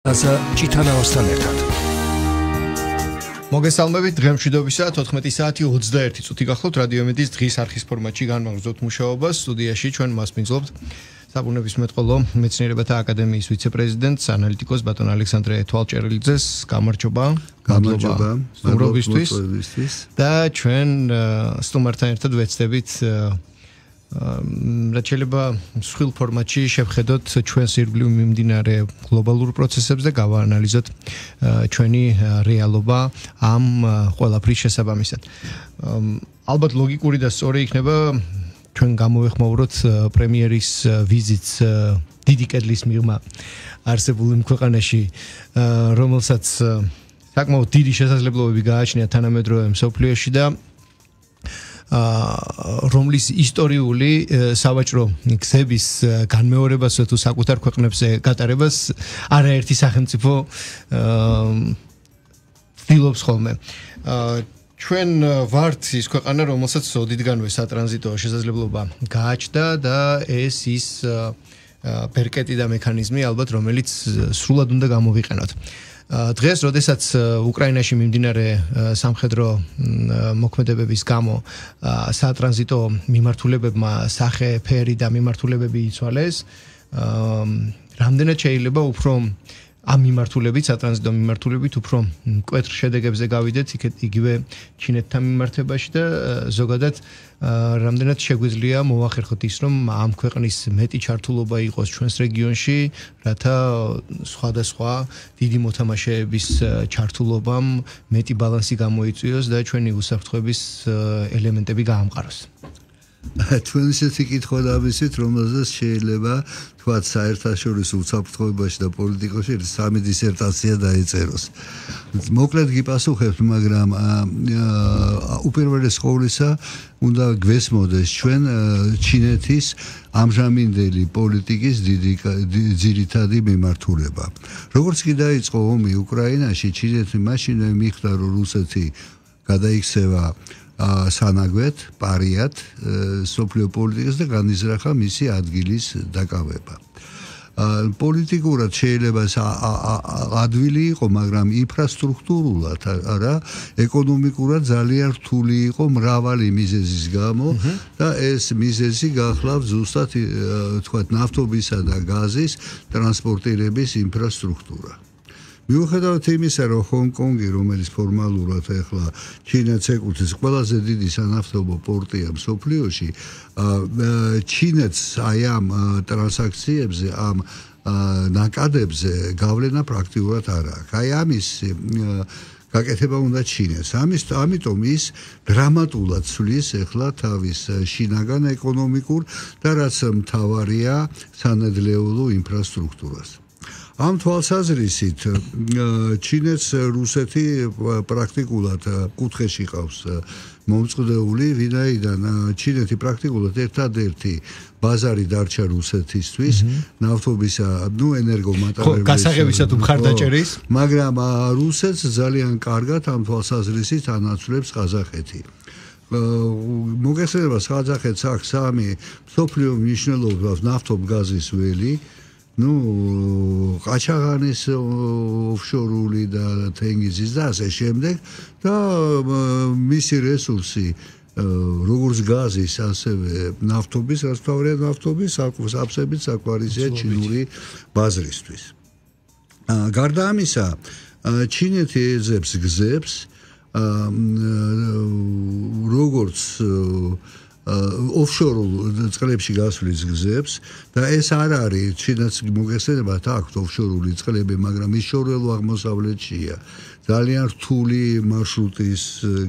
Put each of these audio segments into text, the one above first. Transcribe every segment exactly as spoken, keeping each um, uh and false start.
ასე ჭითანავასთან ერთად. მოგესალმებით, დღემშვიდობისა თოთხმეტი საათი ოცდაერთი წუთი გახლავთ რადიო მედიის დღის არხის ფორმატში განმაგრძობთ მუშაობას. სტუდიაში ჩვენ მასპინძლობთ საბუნებისმეტყველო მეცნიერებათა აკადემიის ვიცე-პრეზიდენტს, ანალიტიკოს ბატონ ალექსანდრე თვალჭერლიძეს. გამარჯობა. გამარჯობა. სტუმრობისთვის და ჩვენ სტუმართან ერთად ვეცდებით რაც შეიძლება მსხვილ ფორმატში შევხედოთ ჩვენს ირგვლივ მიმდინარე გლობალურ პროცესებს და გავაანალიზოთ ჩვენი რეალობა ამ ყველაფრის შესაბამისად. ალბათ ლოგიკური და სწორი იქნება ჩვენ გამოვეხმაუროთ პრემიერის ვიზიტს დიდი კედლის მიღმა არსებულ იმ ქვეყანაში, რომელსაც საკმაოდ დიდი შესაძლებლობები გააჩნია თანამედროვე მსოფლიოში და რომლის ისტორიული სავაჭრო გზების განმეორებას თუ საკუთარ ქვეყნებზე გატარებას არაერთი სახელმწიფო ცდილობს ხოლმე. ჩვენ ვართ ის ქვეყანა, რომელსაც ოდითგანვე სატრანზიტო შესაძლებლობა გააჩნდა და ეს ის ბერკეტი და მექანიზმი ალბათ რომელიც სრულად უნდა გამოვიყენოთ. დღეს, როდესაც უკრაინაში მიმდინარე სამხედრო მოქმედებების გამო სატრანზიტო მიმართულებებმა სახე, ფერი და მიმართულებები იცვალეს, რამდენად შეიძლება უფრო ამ მიმართულებით, სატრანზიტო მიმართულებით უფრო მკვეთრ შედეგებზე გავიდეთ, იგივე ჩინეთთან მიმართებაში და ზოგადად რამდენად შეგვიძლია მოვახერხოთ ის, რომ ამ ქვეყნის მეტი ჩართულობა იყოს ჩვენს რეგიონში, რათა სხვადასხვა დიდი მოთამაშეების ჩართულობამ მეტი ბალანსი გამოიწვიოს და ჩვენი უსაფრთხოების ელემენტები გაამყაროს. ჩვენ ისეთი კითხვა დავისვით, რომელზეც შეიძლება თქვათ საერთაშორისო უსაფრთხოებაში და პოლიტიკაში სამი დისერტაცია დაეწეროს. მოკლედ გიპასუხებთ, მაგრამ უპირველეს ყოვლისა უნდა გვესმოდეს ჩვენ ჩინეთის ამჟამინდელი პოლიტიკის დიდი ძირითადი მიმართულება. როგორც კი დაიწყო ომი უკრაინაში, ჩინეთი მაშინვე მიხვდა, რომ რუსეთი გადაიქცევა სანაგვეთ, პარიად, სოფლიო პოლიტიკას და განიზრახა მისი ადგილის დაკავება. პოლიტიკურად შეიძლება ადვილი იყო, მაგრამ ინფრასტრუქტურულად არა, ეკონომიკურად ძალიან რთული იყო მრავალი მიზეზის გამო და ეს მიზეზი გახლავთ ზუსტად თქვათ ნავთობისა და გაზის ტრანსპორტირების ინფრასტრუქტურა. მიუხედავად იმისა, რომ ჰონკონგი, რომელიც ფორმალურად ახლა ჩინეთს ეკუთვნის, ყველაზე დიდი სანავთობო პორტია მსოფლიოში, ჩინეთს აი ამ ტრანზაქციებზე, ამ ნაკადებზე გავლენა პრაქტიკულად არ აქვს. აი ამის გაკეთება უნდა ჩინეთს. ამის ამიტომ ის დრამატულად ცვლის ახლა თავის შინაგან ეკონომიკურ და რაც მთავარია სანედლეულო ინფრასტრუქტურას. ამ თვალსაზრისით ჩინეთს რუსეთი პრაქტიკულად კუთხეში ყავს მომწყდეული, ვინაიდან ჩინეთი პრაქტიკულად ერთადერთი ბაზარი დარჩა რუსეთისთვის, ნავთობისა, ნუ ენერგომატარებლების, გასაღებისა თუ მხარდაჭერის, მაგრამ რუსეთს ძალიან კარგად ამ თვალსაზრისით ანაცვლებს ყაზახეთი. მოგეხსენება, ყაზახეთს აქვს სამი მსოფლიო მნიშვნელობის ნავთობგაზის ველი, ну, ყაჩაღანის ოფშორული და თენგიზის და ასე შემდეგ და მისი რესურსი როგორც გაზის, ასევე ნავთობის, რაც თავია ნავთობის, აფსებით საკვარისია ჩინური ბაზრისთვის. გარდა ამისა, ჩინეთი ეძებს გზებს, როგორც ოფშორულ წყლებში გასვლის გზებს და ეს არ არის ჩინეთს მოგეხსენებათ აქვს ოფშორული წყლები, მაგრამ ის შორეულ აღმოსავლეთშია. ძალიან რთული მარშრუტის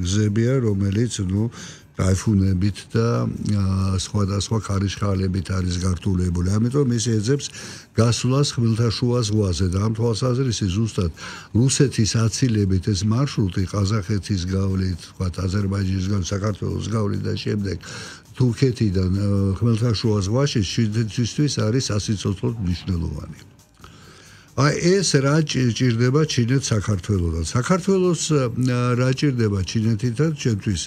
გზებია, რომელიც ნუ ტაიფუნებით და სხვადასხვა ქარიშხალებით არის გართულებული. ამიტომ ის ეძებს გასვლას ხმელთაშუა ზღვაზე და ამ თვალსაზრისით ზუსტად რუსეთის აცილებით ეს მარშრუტი ყაზახეთის გავლით, თქვათ აზერბაიჯანის გავლით, საქართველოს გავლით და შემდეგ თურქეთიდან ხმელთაშუა ზღვაში ჩინეთისთვის არის სასიცოცხლოდ მნიშვნელოვანი. აი ეს რა ჭირდება ჩინეთს საქართველოსთან. საქართველოს რა ჭირდება ჩინეთთან ჩვენთვის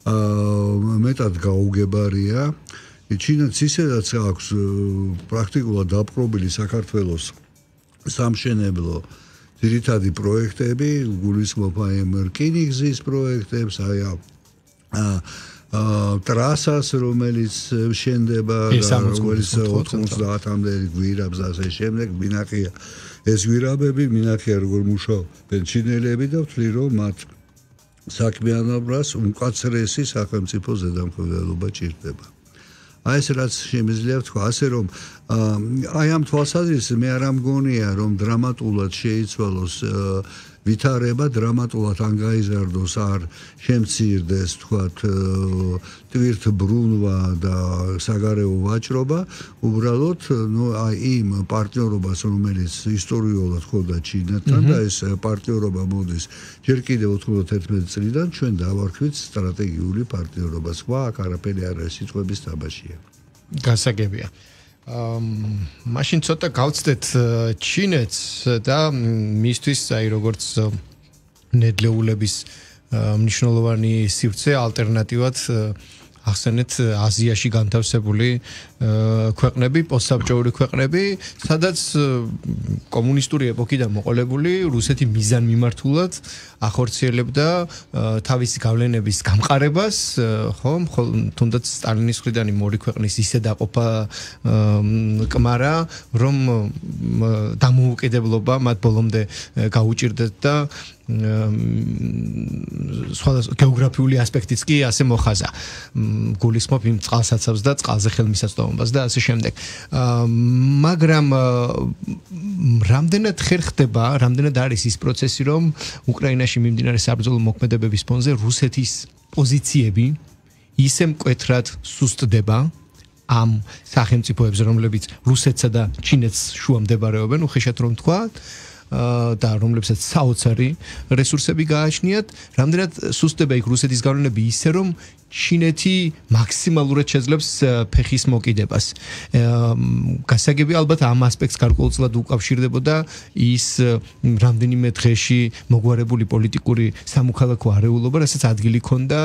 მეტად გაუგებარია. ჩინეთს ისედაც აქვს პრაქტიკულად დაპყრობილი საქართველოს სამშენებლო ძირითადი პროექტები, გულისხმობ აი ამ რკინიგზის პროექტებს, აი აა ტრასას, რომელიც შენდება, რომელიც ოთხმოცდაათამდე გვირაბს ასე შემდეგ, მინახია ეს გვირაბები, მინახია როგორ მუშაობენ ჩინელები და ვთვლი რომ მათ საქმიანობას უმკაცრესი სახელმწიფო ზედამხედველობა ჭირდება. აი ეს რაც შემიძლია ვთქვა, ასე რომ აი ამ თვალსაზრისით მე არ ამგონია რომ დრამატულად შეიცვალოს ვითარება, დრამატულად ან გაიზარდოს, არ შემცირდეს, თქვათ, ტვირთბრუნვა და საგარეო ვაჭრობა, უბრალოდ, ну, აი იმ პარტნიორობას, რომელიც ისტორიულად ხოდა ჩინეთთან და ეს პარტნიორობა მოდის ჯერ კიდევ ოთხმოცდაერთმეტი წლიდან ჩვენ დავარქვით სტრატეგიული პარტნიორობა. სხვა აქ არაფერი არ არის, სიტყვების თამაშია. გასაგებია. მაშინ ცოტა გავცდეთ ჩინეთს და მისთვის აი როგორც ნედლეულების მნიშვნელოვანი სივრცე ალტერნატივად ახსენეთ აზიაში განთავსებული ქვეყნები, პოსტსაბჭოური ქვეყნები, სადაც კომუნისტური ეპოქიდან მოყოლებული რუსეთი მიზანმიმართულად ახორციელებდა თავისი გავლენების გამყარებას, ხო, თუნდაც სტალინის მხრიდან იმ ორი ქვეყნის ისე დაყოფა კმარა, რომ დამოუკიდებლობა მათ ბოლომდე გაუჭირდეთ და სხვადასხვა გეოგრაფიული ასპექტიც კი ასე მოხაზა. გულისხმობ იმ წყალსაცავს და წყალზე ხელმისაწვდომობას და ასე შემდეგ. მაგრამ რამდენად ხერხდება, რამდენად არის ის პროცესი, რომ უკრაინაში მიმდინარე საბრძოლო მოქმედებების ფონზე რუსეთის პოზიციები ისე მკვეთრად სუსტდება ამ სახელმწიფოებს, რომლებიც რუსეთსა და ჩინეთს შუა მდებარეობენ, უხეშად რომ თქვა, და რომლებსაც საოცარი რესურსები გააჩნიათ, რამდენად სუსტდება იქ რუსეთის გავლენები ისე, რომ ჩინეთი მაქსიმალურად შეძლებს ფეხის მოკიდებას. გასაგები ალბათ ამ ასპექტს გარკვეულწილად უკავშირდებოდა ის რამდენიმე დღეში მოგვარებული პოლიტიკური სამოქალაქო არეულობა, რასაც ადგილი ჰქონდა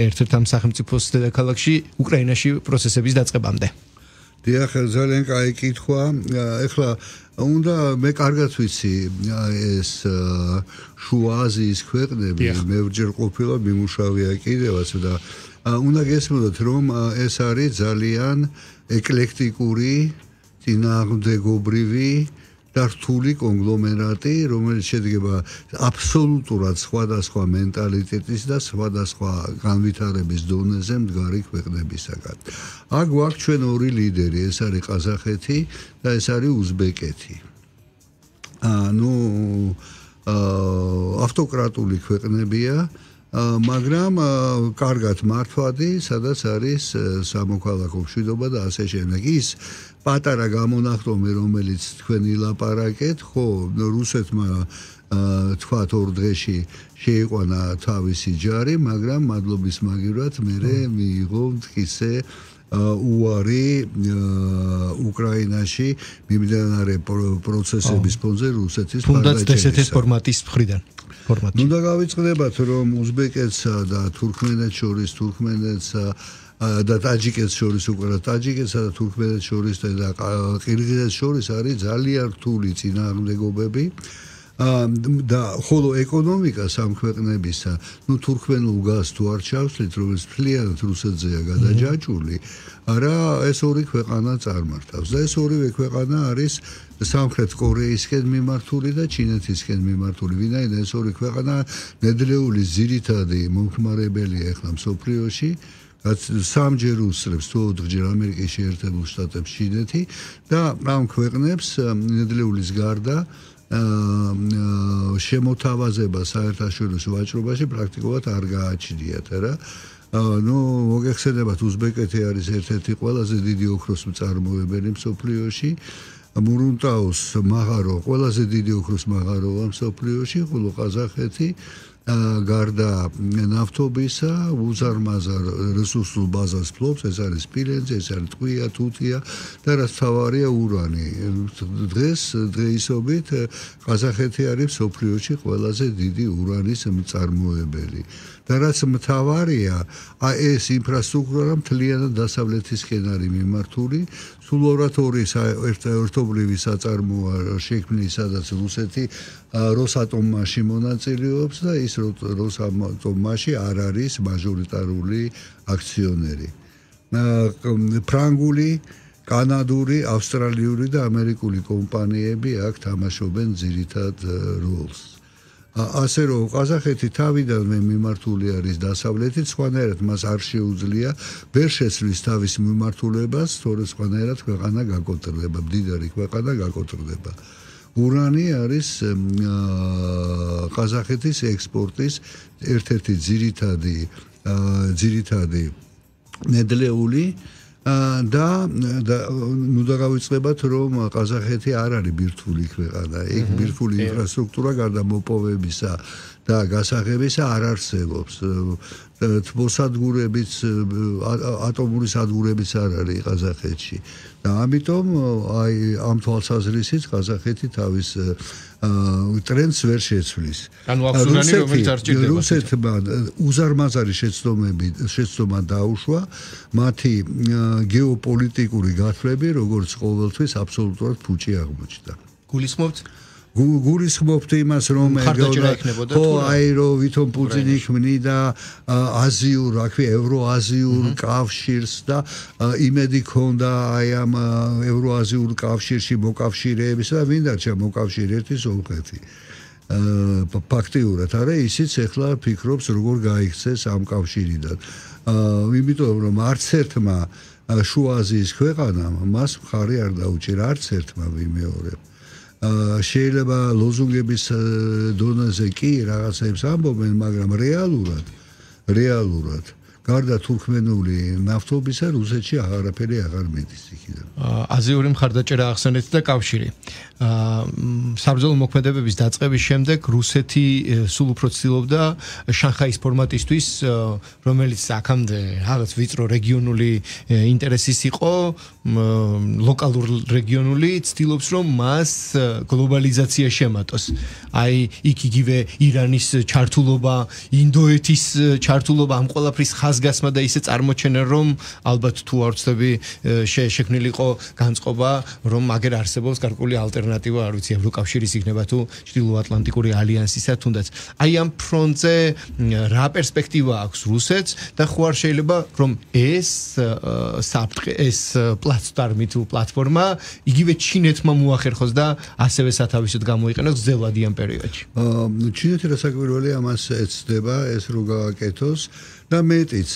ერთ-ერთ ამ სახელმწიფოს დედაქალაქში, უკრაინაში პროცესების დაწყებამდე. დიახ, ძალიან კაი კითხვა. ეხლა უნდა მე კარგად ვიცი ეს შუა აზიის ქვეყნები, მე ვჯერ ყოფილა მიმუშავია კიდევაც და უნდა გესმოდოთ რომ ეს არის ძალიან ეკლექტიკური, წინააღმდეგობრივი და რთული კონგლომერატი, რომელიც შედგება აბსოლუტურად სხვადასხვა მენტალიტეტის და სხვადასხვა განვითარების დონეზე მდგარი ქვეყნებისაგან. აქ გვაქვს ჩვენ ორი ლიდერი, ეს არის ყაზახეთი და ეს არის უზბეკეთი. ანუ ავტოკრატული ქვეყნებია, მაგრამ კარგად მართვადი, სადაც არის სამოქალაქო მშვიდობა და ასე შემდეგ. ის პატარა გამონახტომი, რომელიც თქვენ ილაპარაკეთ, ხო, რუსეთმა თქვათ ორ დღეში შეიყვანა თავისი ჯარი, მაგრამ მადლობის მაგივრად მერე მიიღო მტკიცე უარი უკრაინაში მიმდინარე პროცესების ფონზე რუსეთის თუნდაც ესეთის ფორმატის მხრიდან. ნუ და გავიწყდებათ, რომ უზბეკეთსა და თურქმენეთს შორის, თურქმენეთსა და ტაჯიკეთს შორის უკვე ტაჯიკეთსა და თურქმენეთს შორის და ყირგიზეთს შორის არის ძალიან რთული წინააღმდეგობები და ხოლო ეკონომიკა სამ ქვეყნებისა, ნუ თურქმენულ გაზს თუ არ ჩავსვლით, რომელიც მთლიანად რუსეთზეა გადაჯაჭვული, არა ეს ორი ქვეყანა წარმართავს და ეს ორივე ქვეყანა არის სამხრეთ კორეისკენ მიმართული და ჩინეთისკენ მიმართული. ვინაიდან ეს ორი ქვეყანა ნედლეულის ძირითადი მომხმარებელია ახლა მსოფლიოში, სამჯერ უსწრებს თუ ოთხჯერ ამერიკის შეერთებულ შტატებს ჩინეთი და ამ ქვეყნებს ნედლეულის გარდა შემოთავაზება საერთაშორისო ვაჭრობაში პრაქტიკულად არ გააჩნიათ, რა. ნუ მოგეხსენებათ, უზბეკეთი არის ერთ-ერთი ყველაზე დიდი ოქროს მწარმოებელი მსოფლიოში. მურუნტაუს მაღარო ყველაზე დიდი ოქროს მაღაროა მსოფლიოში, ხოლო ყაზახეთი გარდა ნავთობისა, უზარმაზარ რესურსულ ბაზას ფლობს, ეს არის სპილენძი, ეს არის ტყვია, თუთია და რაც თავარია ურანი. დღეს დღეისობით ყაზახეთი არის მსოფლიოში ყველაზე დიდი ურანის მწარმოებელი. და რაც მთავარია, ეს ინფრასტრუქტურა მთლიანად დასავლეთისკენ არის მიმართული, სულ ორ-ორი ერთობლივი საწარმოა შექმნილი, სადაც რუსეთი როსატომში მონაწილეობს და ის როსატომში არ არის მაჟორიტარული აქციონერი. ფრანგული, კანადური, ავსტრალიური და ამერიკული კომპანიები აქ თამაშობენ ძირითად როლს. ასე რომ ყაზახეთი თავიდანვე მიმართული არის დასავლეთით, სხვანაირად მას არ შეუძლია ვერ შეცვლის თავის მიმართულებას, თორე სხვანაირად ქვეყანა გაკოტრდება, მდიდარი ქვეყანა გაკოტრდება. ურანი არის ყაზახეთის ექსპორტის ერთ-ერთი ძირითადი ძირითადი ნედლეული და ნუ დავიწყებათ რომ ყაზახეთი არ არის ბირთვული ქვეყანა. იქ ბირთვული ინფრასტრუქტურა გარდა მოპოვებისა და გასაღებისა არ არსებობს. თბოსადგურებიც, ატომური სადგურებიც არ არის ყაზახეთში. და ამიტომ აი ამ თვალსაზრისით ყაზახეთი თავის ტრენდს ვერ შეცვლის. ანუ აქვს ურანი, რომელიც არ ჭირდება. რუსეთმა უზარმაზარი შეცდომები შეცდომა დაუშვა, მათი გეოპოლიტიკური გათვლები, როგორც ყოველთვის აბსოლუტურად ფუჭი აღმოჩნდა. გულისხმობთ? გულისხმობთ იმას, რომ ხო, აი რომ ვითომ პუტინი ქმნიდა აზიურ, აქვე ევროაზიურ კავშირს და იმედი ქონდა აი ამ ევროაზიურ კავშირში მოკავშირეების და ვინ დარჩა მოკავშირე ერთი სომხეთი. ფაქტიურად არა, ისიც ახლა ფიქრობს როგორ გაიქცეს ამ კავშირიდან. იმიტომ რომ არც ერთმა შუა აზიის ქვეყანამ მას მხარი არ დაუჭირა, არც ერთმა ვიმეორებ. შეიძლება ლოზუნგების დონეზე კი რაღაცებს ამბობენ, მაგრამ რეალურად რეალურად გარდა თურქმენული ნავთობისა რუსეთში აღარაფერი აღარ მიდის იქიდან. აზიური მხარდაჭერა ახსენეთ და კავშირი. საბრძოლო მოქმედებების დაწყების შემდეგ რუსეთი სულ უფრო ცდილობდა შანხაის ფორმატისთვის, რომელიც აქამდე რაღაც ვიწრო რეგიონული ინტერესის იყო, ლოკალურ რეგიონული, ცდილობს რომ მას გლობალიზაცია შემატოს. აი იქ იგივე ირანის ჩართულობა, ინდოეთის ჩართულობა, ამ ყველაფრის ხაზგასმა და ისე წარმოჩენა, რომ ალბათ თუ არ ვცდები შექმნილი იყო განწყობა, რომ აგერ არსებობს გარკვეული ალტერნატივა, არ ვიცი, ევროკავშირის იქნება თუ ჩრდილოატლანტიკური ალიანსისა თუნდაც. აი ამ ფრონტზე რა პერსპექტივა აქვს რუსეთს და ხო არ შეიძლება რომ ეს საფრთხე, ეს პლატფორმი თუ პლატფორმა იგივე ჩინეთმა მოახერხოს და ასევე სათავისოდ გამოიყენოს გრძელვადიან პერიოდში. ჩინეთი რასაკვირველი ამას ეცდება, ეს რო გააკეთოს და მეტიც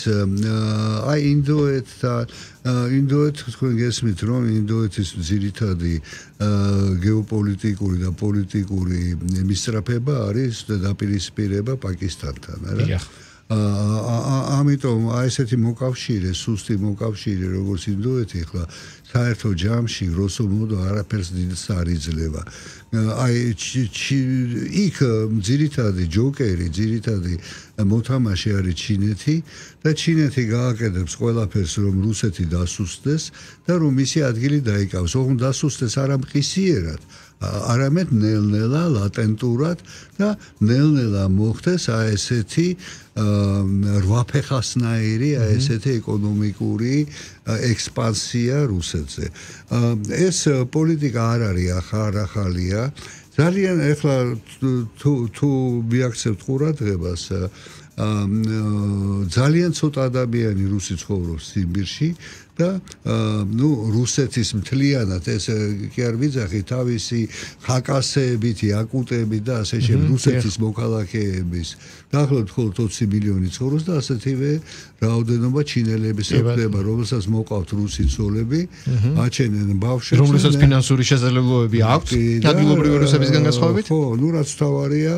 აი ინდოეთთან ინდოეთ თქვენ გესმით რომ ინდოეთის ძირითადი გეოპოლიტიკური და პოლიტიკური მისწრაფება არის დაპირისპირება პაკისტანთან, არა? ამიტომ აი ესეთი მოკავშირე, სუსტი მოკავშირე როგორც ინდოეთი ხლა საერთო ჯამში როსო მოდო არაფერს დიდს არ იძლევა. აი იქ ძირითადი ჯოკერი, ძირითადი მოთამაშე არის ჩინეთი და ჩინეთი გააკეთებს ყველაფერს რომ რუსეთი დასუსტდეს და რომ მისი ადგილი დაიკავოს. ოღონდ დასუსტდეს არა მყისიერად, არამედ ნელ-ნელა, ლატენტურად და ნელ-ნელა მოხდეს აი ესეთი რვაფეხასნაირი, აი ესეთი ეკონომიკური ექსპანსია რუსეთზე. ეს პოლიტიკა არ არის ახალია. ძალიან ეხლა თუ თუ მიაქცევთ ყურადღებას, ძალიან ცოტა ადამიანი რუსი ცხოვრობს სიბირში და ნუ რუსეთის მთლიანად ეს კი არ ვიძახი თავისი ხაკასეებით, იაკუტებით და ასე შემდეგ რუსეთის მოქალაქეების დაახლოებით მხოლოდ ოცი მილიონი ცხოვრობს და ასეთივე რაოდენობა ჩინელების ექნება, რომელსაც მოყავთ რუსი ცოლები, აჩენენ ბავშვებს, რომელსაც ფინანსური შესაძლებლობები აქვს ადგილობრივი რუსებისგან განსხვავებით. ხო, ნუ რაც თავარია,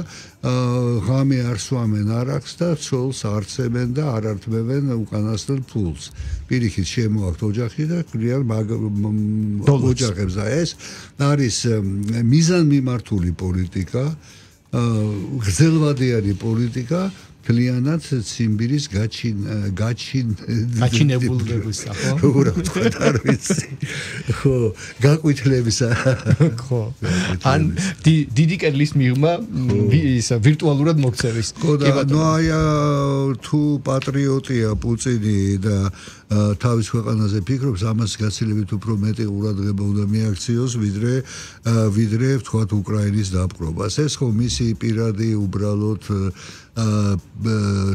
ღამე არ სვამენ არაკს და ცოლს არცემენ და არ ართმევენ უკანასკნელ ფულს. პირიქით შემოაქვთ ოჯახი და კრიან ოჯახებს და ეს არის მიზანმიმართული პოლიტიკა. გრძელვადიანი პოლიტიკა კლიანად ციმბირის გაჩინ გაჩინ გაჩინებულებისა ხო როგორ ვთქვათ არ ვიცი ხო გაკვითლებისა ხო ან დიდი კედლის მიღმა ისა ვირტუალურად მოქცევის ხო და ნუ აი თუ პატრიოტია პუტინი და თავის ქვეყანაზე ფიქრობს ამას გაცილებით უფრო მეტი ყურადღება უნდა მიაქციოს ვიდრე ვიდრე ვთქვათ უკრაინის დაპყრობას ეს ხო მისი პირადი უბრალოდ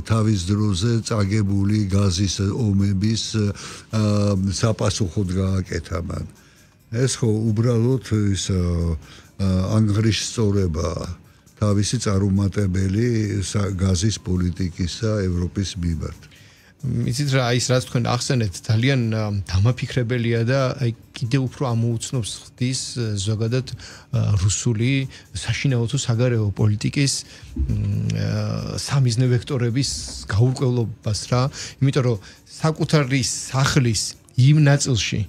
თავის დროზე წაგებული გაზის ომების საპასუხოდ გააკეთა მან ეს ხო უბრალოდ ის ანგრიშწორება თავისი წარუმატებელი გაზის პოლიტიკისა ევროპის მიმართ იცით რა ის რაც თქვენ ახსენეთ ძალიან დამაფიქრებელია და აი კიდევ უფრო ამოუცნობს ხდის ზოგადად რუსული საშინაო თუ საგარეო პოლიტიკის სამიზნე ვექტორების გაურკვევლობას რა იმიტომ რომ საკუთარი სახლის იმ ნაწილში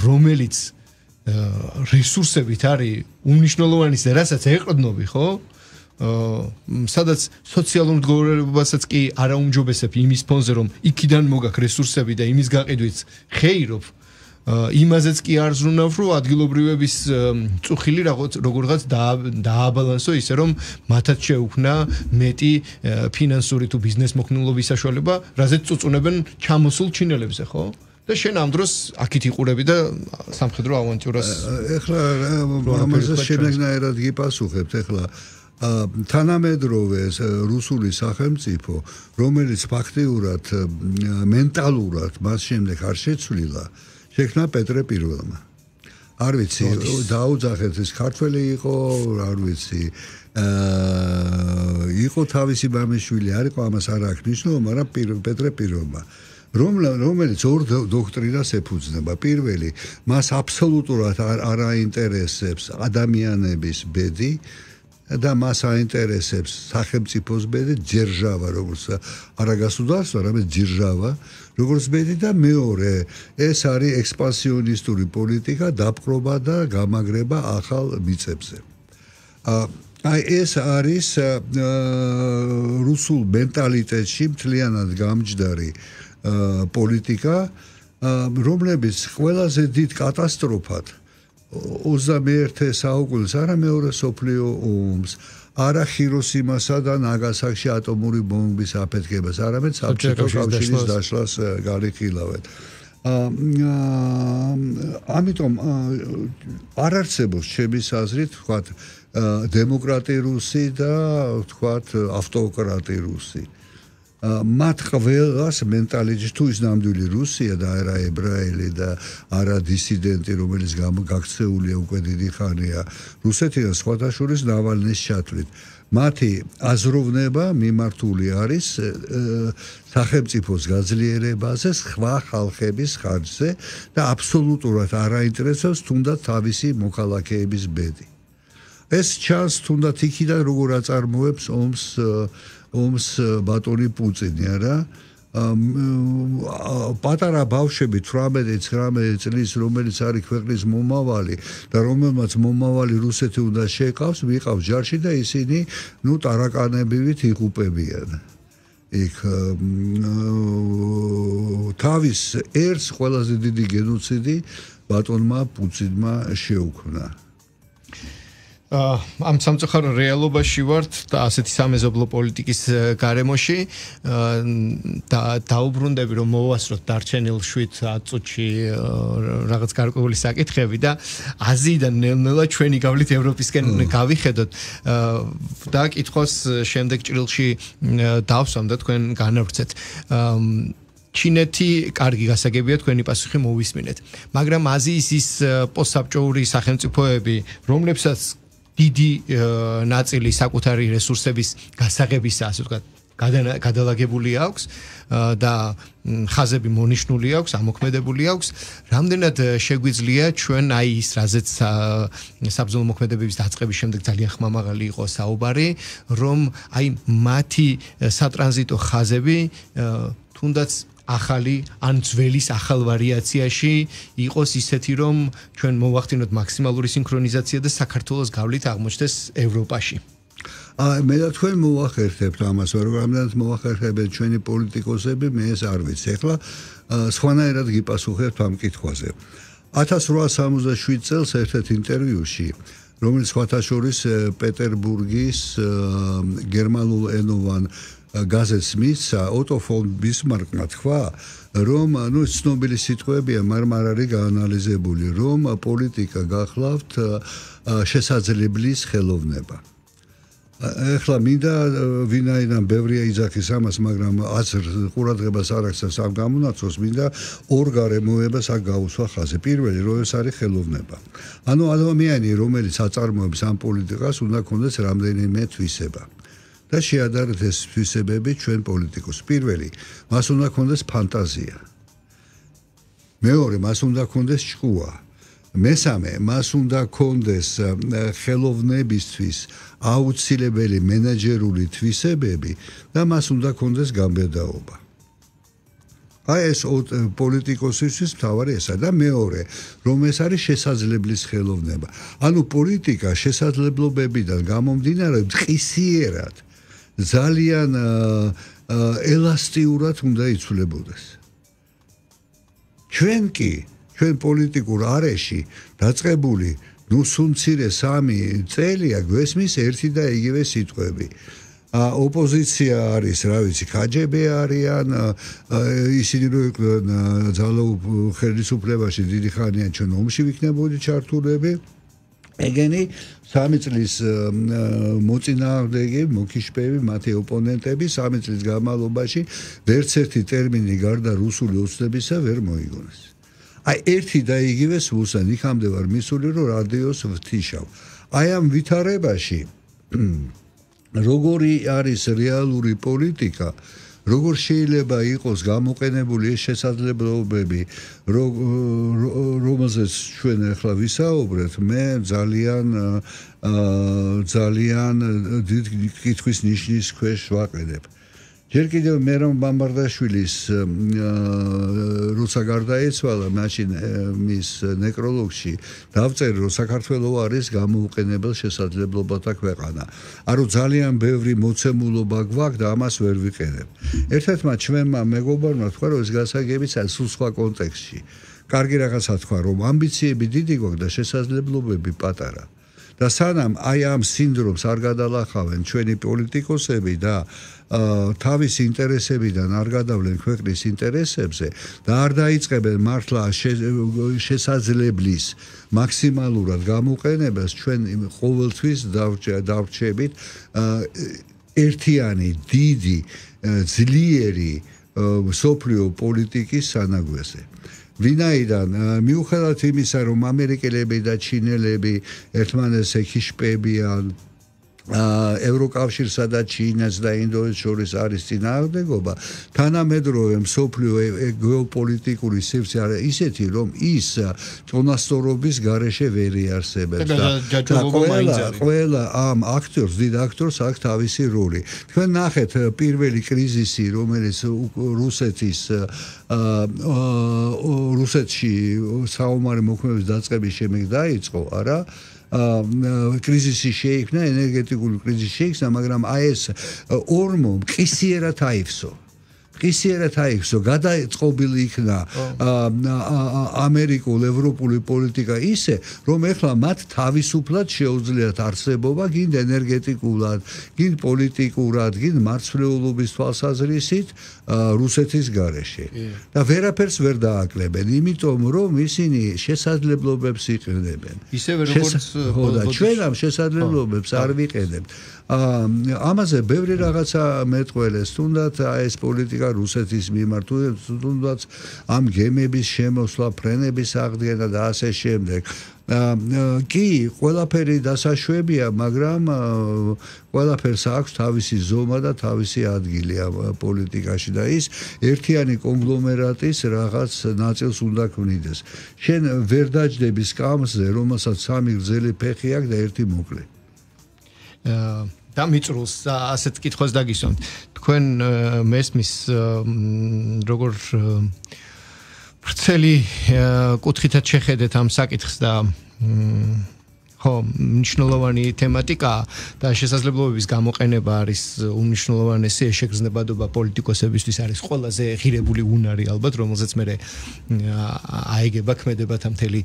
რომელიც რესურსებით არის უნიშნულოვანი და რასაც ეყრდნობი ხო სადაც სოციალურ მდგომარეობასაც კი არ აუმჯობესებ იმის ფონზე რომ იქიდან მოგაქ რესურსები და იმის გაყიდვით ხეირობ იმაზეც კი არ ზრუნავ რომ ადგილობრივების წუხილი როგორღაც დააბალანსო ისე რომ მათაც შეუქმნა მეტი ფინანსური თუ ბიზნეს მოქნილობის საშუალება რაზეც წუწუნებენ ჩამოსულ ჩინელებზე ხო და შენ ამ დროს აქით იყურები და სამხედრო ავანტიურას ეხლა ამაზე შემეგნაერად გიპასუხებთ ეხლა თანამედროვე რუსული სახელმწიფო რომელიც ფაქტიურად მენტალურად მას შემდეგ არ შეცვლილა შექმნა პეტრე პირველმა არ ვიცი დაუძახეთ ეს ქართველი იყო არ ვიცი იყო თავისი მამიშვილი არ იყო ამას არ აქვს ნიშნულობა მაგრამ პეტრე პირველმა რომელიც ორ დოქტრინას ეფუძნება პირველი მას აბსოლუტურად არ აინტერესებს ადამიანების ბედი და მას აინტერესებს სახელმწიფოს ბედი ძერჟავა როგორც არა გასუდარსო არამედ ძერჟავა როგორც ბედი და მეორე ეს არის ექსპანსიონისტური პოლიტიკა დაპყრობა და გამაგრება ახალ მიწებზე აი ეს არის რუსულ მენტალიტეტში მთლიანად გამჯდარი პოლიტიკა რომლებიც ყველაზე დიდ კატასტროფად ოცდამეერთე საუკუნეს არა მეორე სოფლიო ომს არა ჰიროსიმასა და ნაგასაკში ატომური ბომბის აფეთქებას არამედ საბჭოთა კავშირის დაშლას გარიხილავენ ამიტომ არ არსებობს ჩემი აზრით ვთქვათ დემოკრატი რუსი და ვთქვათ ავტოკრატი რუსი მათ ყველას მენტალიტეტში თუ ის ნამდვილი რუსია და არა ებრაელი და არა დისიდენტი რომელიც გაქცეულია უკვე დიდი ხანია რუსეთიდან სხვათა შორის ნავალნის ჩათვლით მათი აზროვნება მიმართული არის სახელმწიფოს გაძლიერებაზე სხვა ხალხების ხარჯზე და აბსოლუტურად არ აინტერესებს თუნდაც თავისი მოქალაქეების ბედი ეს ჩანს თუნდაც იქიდან როგორ აწარმოებს ომს ომს ბატონი პუტინი არა პატარა ბავშვები თვრამეტი ცხრამეტი წლის რომელიც არის ქვეყნის მომავალი და რომელმაც მომავალი რუსეთი უნდა შეყავს ვიყავს ჯარში და ისინი ნუ ტარაკანებივით იღუპებიან იქ თავის ერთს ყველაზე დიდი გენოციდი ბატონმა პუტინმა შეუქმნა ამ სამწუხარო რეალობაში ვართ და ასეთი სამეზობლო პოლიტიკის გარემოში და დაუბრუნდები რომ მოვასწროთ დარჩენილ შვიდ წუთში რაღაც გარკვეული საკითხები და აზიიდან ნელ-ნელა ჩვენი გავლით ევროპისკენ გავიხედოთ და კითხოს შემდეგ ჭრილში დავსვამ და თქვენ განავრცეთ ჩინეთი კარგი გასაგებია თქვენი პასუხი მოვისმინეთ მაგრამ აზიის ის პოსტსაბჭოური სახელმწიფოები რომლებსაც დიდი ნაწილი საკუთარი რესურსების გასაღებისა ასე ვთქვათ გადალაგებული აქვს და ხაზები მონიშნული აქვს ამოქმედებული აქვს რამდენად შეგვიძლია ჩვენ აი ის რაზეც საბრძოლო მოქმედებების დაწყების შემდეგ ძალიან ხმამაღალი იყო საუბარი რომ აი მათი სატრანზიტო ხაზები თუნდაც ახალი ან ძველის ახალ ვარიაციაში იყოს ისეთი რომ ჩვენ მოვახდინოთ მაქსიმალური სინქრონიზაცია და საქართველოს გავლით აღმოჩნდეს ევროპაში მე და თქვენ მოვახერხებთ ამას, რამდენად მოვახერხებთ ჩვენი პოლიტიკოსები, მე ეს არ ვიცი. ეხლა სხვანაირად გიპასუხებთ ამ კითხვაზე. ათას რვაასი სამოცდაშვიდ წელს ერთ-ერთ ინტერვიუში, რომელიც სხვათა შორის პეტერბურგის გერმანულ ენოვან გაზეთს მისცა, ოტო ფონ ბისმარკმა თქვა, რომ ნუ ცნობილი სიტყვებია, მაგრამ არ არის გაანალიზებული, რომ პოლიტიკა გახლავთ შესაძლებლის ხელოვნება. ეხლა მინდა ვინაიდან ბევრია იძახის ამას, მაგრამ აზრ ყურადღებას არ აქცევს ამ გამონაცვლას, მინდა ორ გარემოებას აქ გაუსვა ხაზი. პირველი, რომ ეს არის ხელოვნება. ანუ ადამიანი, რომელიც აწარმოებს ამ პოლიტიკას, უნდა ქონდეს რამდენიმე თვისება. და შეადარეთ ეს თვისებები ჩვენ პოლიტიკოს. პირველი, მას უნდა ქონდეს ფანტაზია. მეორე, მას უნდა ქონდეს ჭკუა. მესამე, მას უნდა ქონდეს ხელოვნებისთვის აუცილებელი მენეჯერული თვისებები და მას უნდა ქონდეს გამბედაობა. აი ეს პოლიტიკოსისთვის მთავარი ესა და მეორე, რომ ეს არის შესაძლებლის ხელოვნება. ანუ პოლიტიკა შესაძლებლობებიდან გამომდინარე მყისიერად ძალიან ელასტიურად უნდა იცვლებოდეს. ჩვენ კი ჩვენ პოლიტიკურ არეში დაწყებული ნუ სულ მცირე სამი წელია გვესმის ერთი და იგივე სიტყვები. ოპოზიცია არის, რა ვიცი, კაჯები არიან, ისინი რო იყვნენ ძალაუფ ხელისუფლებაში დიდი ხანია ჩვენ ომში ვიქნებოდი ჩართულები. ეგენი სამი წლის მოწინააღმდეგე, მოკიშპები, მათი ოპონენტები სამი წლის განმავლობაში ვერც ერთი ტერმინი გარდა რუსული ოცნებისა ვერ მოიგონეს. აი ერთი და იგივე სულსან იქამდე ვარ მისული, რომ რადიოს ვთიშავ. აი ამ ვითარებაში როგორი არის რეალური პოლიტიკა, როგორ შეიძლება იყოს გამოყენებული ეს შესაძლებლობები, რომელზეც ჩვენ ახლა ვისაუბრეთ, მე ძალიან ძალიან დიდ კითხვის ნიშნის ქვეშ ვაყენებ. ჯერ კიდევ მერონ ბამბარდაშვილის როცა გარდაეცვალა მაშინ მის ნეკროლოგში დავწერე, რომ საქართველოს არის გამოუყენებელ შესაძლებლობათა ქვეყანა. არო ძალიან ბევრი მოცემულობა გვაქვს და ამას ვერ ვიყენებ. ერთ-ერთმა ჩვენმა მეგობარმა თქვა, რომ ეს გასაგებიც არის სულ სხვა კონტექსტში. კარგი რაღაცა თქვა, რომ ამბიციები დიდი გვაქვს და შესაძლებლობები პატარა. და სანამ აი ამ სინდრომს არ გადალახავენ ჩვენი პოლიტიკოსები და თავის ინტერესებიდან არ გადავლენ ქვეყნის ინტერესებზე და არ დაიწყებენ მართლა შესაძლებლის მაქსიმალურად გამოყენებას, ჩვენ ყოველთვის დავრჩებით ერთიანი, დიდი, ძლიერი მსოფლიო პოლიტიკის სანაგვეზე. ვინაიდან მიუხედავად იმისა, რომ ამერიკელები და ჩინელები ერთმანეთს ეკიშპებიან, ევროკავშირსა და ჩინეთს და ინდოეთს შორის არის წინააღმდეგობა, თანამედროვე მსოფლიო გეოპოლიტიკური სივრცე არის ისეთი, რომ ის წონასწორობის გარეშე ვერ იარსებებს და ყველა ამ აქტორს, დიდ აქტორს აქვს თავისი როლი. თქვენ ნახეთ პირველი კრიზისი, რომელიც რუსეთის რუსეთში საომარი მოქმედების დაწყების შემდეგ დაიწყო, არა? კრიზისი შეიქმნა, ენერგეტიკული კრიზისი შეიქმნა, მაგრამ აი ეს ორმო მყისიერად აივსო. მყისიერად აივსო, გადაწყობილი იქნა ამერიკულ, ევროპული პოლიტიკა ისე, რომ ეხლა მათ თავისუფლად შეუძლიათ არსებობა, გინდ ენერგეტიკულად, გინდ პოლიტიკურად, გინდ მარცვლეულობის თვალსაზრისით რუსეთის გარეშე. და ვერაფერს ვერ დააკლებენ, იმიტომ რომ ისინი შესაძლებლობებს იყენებენ. ისევე როგორც და ჩვენ ამ შესაძლებლობებს არ ვიყენებთ. ამაზე ბევრი რაღაცა მეტყველეს, თუნდაც ეს პოლიტიკა რუსეთის მიმართ, თუნდაც ამ გემების შემოსვლა, ფრენების აღდგენა და ასე შემდეგ. კი, ყველაფერი დასაშვებია, მაგრამ ყველაფერს აქვს თავისი ზომა და თავისი ადგილი ამ პოლიტიკაში და ის ერთიანი კონგლომერატის რაღაც ნაწილს უნდა ქმნიდეს. შენ ვერ დაჯდები სკამზე, რომელსაც სამი გრძელი ფეხი აქვს და ერთი მოკლე. და მიწრულს ასეთ კითხვას დაგისვამთ. თქვენ მესმის როგორ ვრცელი კუთხითაც შეხედეთ ამ საკითხს და ხო, მნიშვნელოვანი თემატიკა და შესაძლებლობების გამოყენება არის უმნიშვნელოვანესი შეგრძნებადობა პოლიტიკოსებისთვის არის ყველაზე ღირებული უნარი ალბათ, რომელზეც მე აიგება ქმედებათა მთელი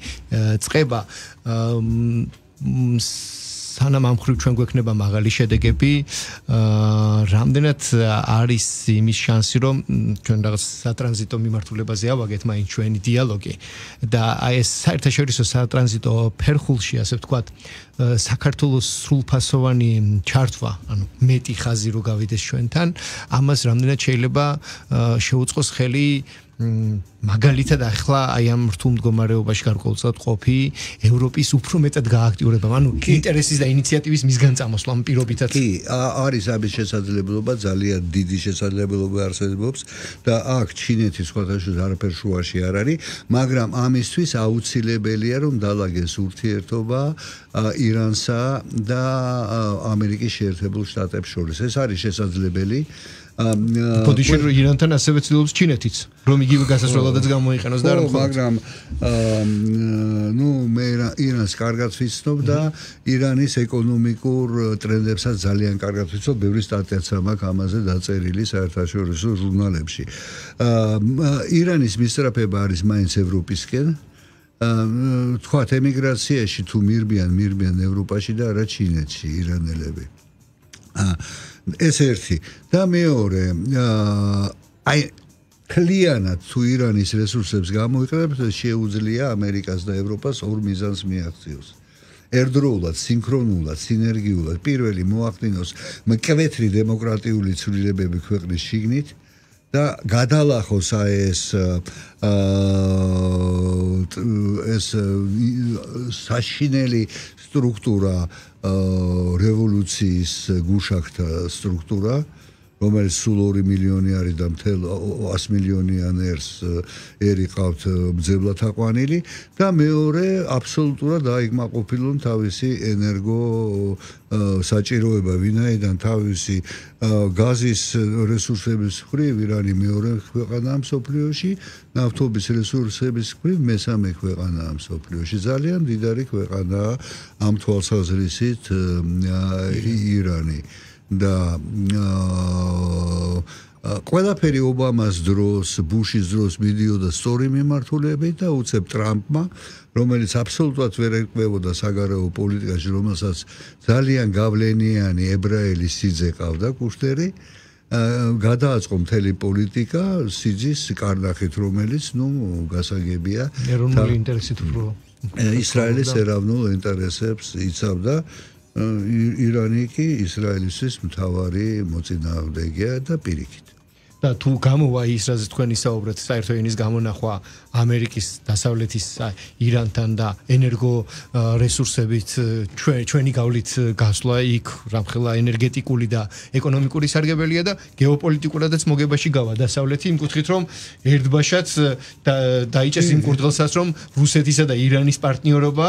წყება. სანამ ამ ხრივ ჩვენ გვექნება მაღალი შედეგები, რამდენად არის იმის შანსი, რომ ჩვენ რაღაც სატრანზიტო მიმართულებაზე ავაგეთ მაინც ჩვენი დიალოგი და აი ეს საერთაშორისო სატრანზიტო ფერხულში, ასე ვთქვათ, საქართველოს სრულფასოვანი ჩართვა, ანუ მეტი ხაზი რო გავიდეს ჩვენთან, ამას რამდენად შეიძლება შეუწყოს ხელი მაგალითად ახლა აი ამ რთულ მდგომარეობაში გარკვეულწილად ყოფი ევროპის უფრო მეტად გააქტიურება, ანუ ინტერესის და ინიციატივის მისგან წამოსვლა ამ პირობითაც. კი, არის ამის შესაძლებლობა, ძალიან დიდი შესაძლებლობა არსებობს და აქ ჩინეთის სხვათაშორის არაფერ შუაში არ არის, მაგრამ ამისთვის აუცილებელია რომ დაალაგეს ურთიერთობა ირანსა და ამერიკის შეერთებულ შტატებს შორის. ეს არის შესაძლებელი. პოდიშენ ირანთან ასევე ცდილობს ჩინეთიც, რომ იგივე გასასვლელადაც გამოიყენოს და რომ მაგრამ ნუ მე ირანს კარგად ვიცნობ და ირანის ეკონომიკურ ტრენდებსაც ძალიან კარგად ვიცნობ, ბევრი სტატიაც მაქვს ამაზე დაწერილი საერთაშორისო ჟურნალებში. ირანის მისწრაფება არის მაინც ევროპისკენ. თქვათ ემიგრაციაში თუ მირბიან, მირბიან ევროპაში და არა ჩინეთში ირანელები. ეს ერთი და მეორე აი კლიანად თუ ირანის რესურსებს გამოიყენებს შეუძლია ამერიკას და ევროპას ორ მიზანს მიაღწიოს ერთდროულად სინქრონულად სინერგიულად პირველი მოახდინოს მკვეთრი დემოკრატიული ცვლილებები ქვეყნის შიგნით და გადალახოს ეს ეს საშინელი სტრუქტურა რევოლუციის გუშაქთა სტრუქტურა, რომელიც სულ ორი მილიონი არის და მთელ ას მილიონიანერს ერი ყავთ ბძებლად აყვანილი და მეორე აბსოლუტურად აიგმაყოფილონ თავისი ენერგო საჭიროება, ვინაიდან თავისი გაზის რესურსების მხრივ ირანი მეორე ქვეყანაა მსოფლიოში, ნავთობის რესურსების მხრივ მესამე ქვეყანაა მსოფლიოში. ძალიან მდიდარი ქვეყანაა ამ თვალსაზრისით ირანი. და ყველაფერი ობამას დროს, ბუშის დროს მიდიოდა სწორი მიმართულებით და უცებ ტრამპმა, რომელიც აბსოლუტურად ვერ ეკბებოდა საგარეო პოლიტიკაში, რომელსაც ძალიან გავლენიანი ებრაელი სიძე ყავდა კუშტერი, გადააწყო მთელი პოლიტიკა სიძის კარნახით, რომელიც, ნუ, გასაგებია, ეროვნული ინტერესით უფრო ისრაელის ეროვნულ ინტერესებს იცავდა. ირანი კი ისრაელისთვის მთავარი მოწინააღმდეგეა და პირიქით. და თუ გამოვა ის, რაც თქვენ ისაუბრეთ, საერთო ენის გამონახვა ამერიკის დასავლეთის ირანთან და ენერგო რესურსებით ჩვენი გავლით გასვლა იქ რამხელა ენერგეტიკული და ეკონომიკური სარგებელია და გეოპოლიტიკურადაც მოგებაში გავა დასავლეთი იმ კუთხით, რომ ერთბაშად დაიჭეს იმ კურდღელსაც, რომ რუსეთისა და ირანის პარტნიორობა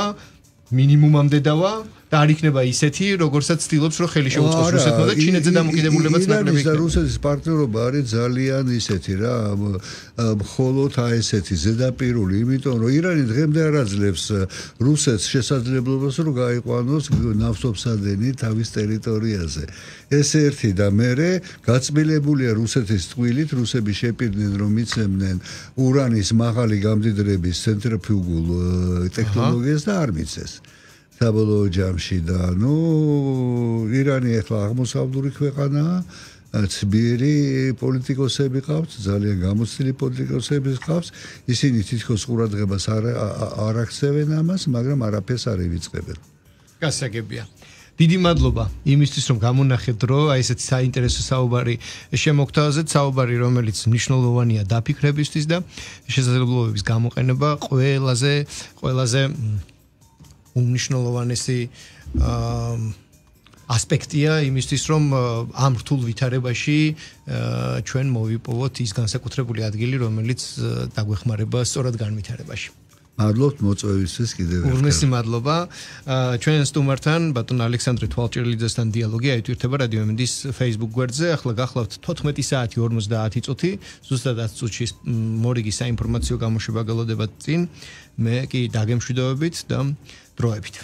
მინიმუმამდე დავა და არ იქნება ისეთი, როგორცაც ცდილობს, რომ ხელი შეუწყოს რუსეთმა და ჩინეთზე დამოკიდებულებაც ნაკლები იქნება. ირანის და რუსეთის პარტნიორობა არის ძალიან ისეთი რა, მხოლოდ აი ესეთი ზედაპირული, იმიტომ რომ ირანი დღემდე არ აძლევს რუსეთს შესაძლებლობას, რომ გაიყვანოს ნავთობსადენი თავის ტერიტორიაზე. ეს ერთი და მერე გაწმილებულია რუსეთის ტყვილით, რუსები შეპირდნენ, რომ მიცემდნენ ურანის მაღალი გამდიდრების ცენტრიფუგულ ტექნოლოგიას და არ მიცეს. საბოლოო ჯამში და ნუ ირანი ახლა აღმოსავლური ქვეყანაა, ცბიერი პოლიტიკოსები ყავს, ძალიან გამოცდილი პოლიტიკოსები ყავს, ისინი თითქოს ყურადღებას არ არ აქცევენ ამას, მაგრამ არაფერს არ ივიწყებენ. გასაგებია. დიდი მადლობა იმისთვის, რომ გამონახეთ დრო, აი ესეთი საინტერესო საუბარი შემოგთავაზეთ, საუბარი, რომელიც მნიშვნელოვანია დაფიქრებისთვის და შესაძლებლობების გამოყენება ყველაზე ყველაზე უმნიშვნელოვანესი ასპექტია იმისთვის, რომ ამ რთულ ვითარებაში ჩვენ მოვიპოვოთ ის განსაკუთრებული ადგილი, რომელიც დაგვეხმარება სწორად განვითარებაში. მადლობთ მოწვევისთვის კიდევ ერთხელ. ურმესი მადლობა. ჩვენ სტუმართან ბატონ ალექსანდრე თვალჭრილიძესთან დიალოგი აიტვირთება რადიო ემდის Facebook გვერდზე. ახლა გახლავთ თოთხმეტი საათი ორმოცდაათი წუთი. ზუსტად ათ წუთში მორიგი საინფორმაციო გამოშვება გელოდებათ წინ. მე კი დაგემშვიდობებით და დროებით.